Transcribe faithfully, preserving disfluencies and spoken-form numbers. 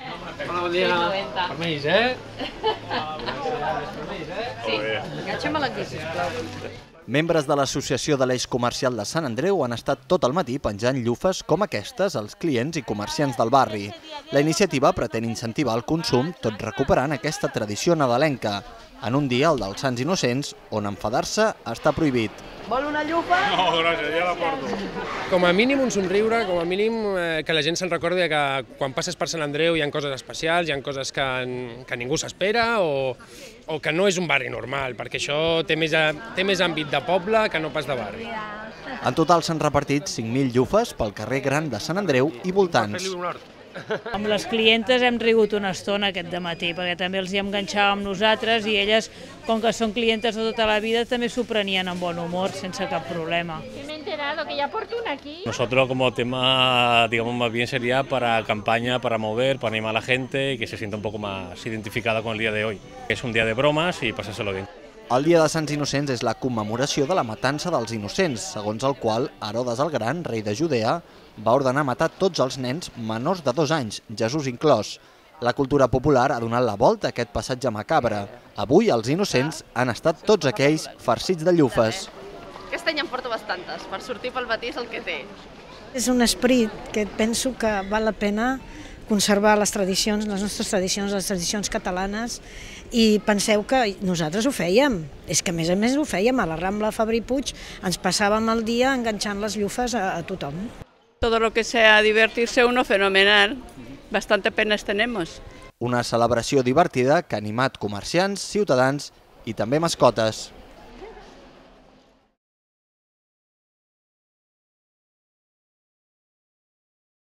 Hola, bon dia. Permís, eh? Sí, enganxa'm aquí, sisplau. Membres de l'Associació de l'Eix Comercial de Sant Andreu han estat tot el matí penjant llufes com aquestes als clients i comerciants del barri. La iniciativa pretén incentivar el consum, tot recuperant aquesta tradició nadalenca, en un dia, el dels Sants Innocents, on enfadar-se està prohibit. Vol una llufa? No, gràcies, ja la porto. Com a mínim un somriure, com a mínim eh, que la gent se'n recordi que quan passes per Sant Andreu hi ha coses especials, hi ha coses que, que ningú s'espera o, o que no és un barri normal, perquè això té més, té més àmbit de poble que no pas de barri. En total s'han repartit cinc mil llufes pel carrer Gran de Sant Andreu i voltants. Amb les clientes hem rigut una estona aquest dematí, perquè també els hi enganxàvem nosaltres i elles, com que són clientes de tota la vida, també s'ho prenien amb bon humor, sense cap problema. Me he enterado que ya por una aquí. Nosotros como tema, digamos, más bien sería para campaña, para mover, para animar a la gente y que se sienta un poco más identificada con el día de hoy. Es un día de bromas y pasárselo bien. El Dia de Sants Innocents és la commemoració de la matança dels innocents, segons el qual Herodes el Gran, rei de Judea, va ordenar matar tots els nens menors de dos anys, Jesús inclòs. La cultura popular ha donat la volta a aquest passatge macabre. Avui els innocents han estat tots aquells farcits de llufes. Aquest any en porto bastantes, per sortir pel matí és el que té. És un esperit que penso que val la pena conservar les tradicions, les nostres tradicions, les tradicions catalanes, i penseu que nosaltres ho fèiem, és que a més a més ho fèiem a la Rambla Fabri Puig, ens passàvem el dia enganxant les llufes a, a tothom. Todo lo que sea divertirse uno, fenomenal, bastante penas tenemos. Una celebració divertida que ha animat comerciants, ciutadans i també mascotes.